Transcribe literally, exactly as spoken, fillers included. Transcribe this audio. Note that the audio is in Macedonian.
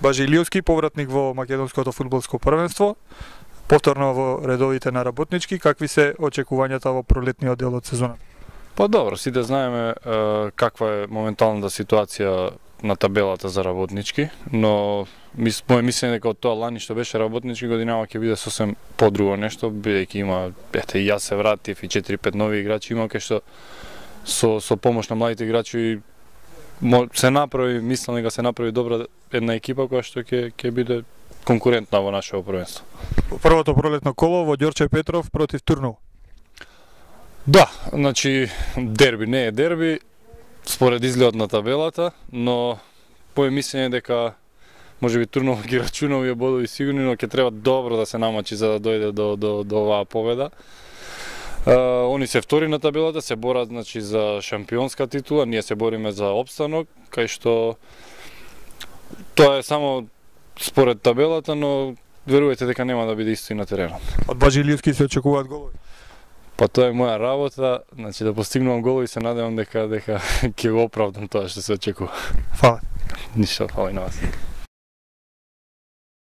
Бажи Илиевски, повратник во македонското фудбалско првенство, повторно во редовите на Работнички, какви се очекувањата во пролетниот дел од сезоната? Па добро, сите знаеме е, каква е моменталната ситуација на табелата за Работнички, но мис, моје мислење дека од тоа лани што беше Работнички годинава ќе биде сосем подруго нешто, бидејќи има, ете, и јас се вратив и четири-пет нови играчи има, кај што со, со помош на младите играчи се направи, мислам дека се направи добра една екипа која што ќе ќе биде конкурентна во нашето првенство. Првото пролетно коло во Ѓорче Петров против Турново. Да, значи дерби не е дерби според изгледот на табелата, но моје мислење дека можеби Турново ги рачуна овие бодови сигурни, но ќе треба добро да се намачи за да дојде до до до оваа победа. Uh, они се втори на табелата, се борат значи за шампионска титула, ние се бориме за опстанок, кај што тоа е само според табелата, но верувајте дека нема да биде исто и на теренот. Од Бажи Илиевски се очекуваат голови? Па тоа е моја работа, значи да постигнувам голови, се надевам дека дека ќе го оправдам тоа што се очекува. Фала. Ништо, фала и на вас.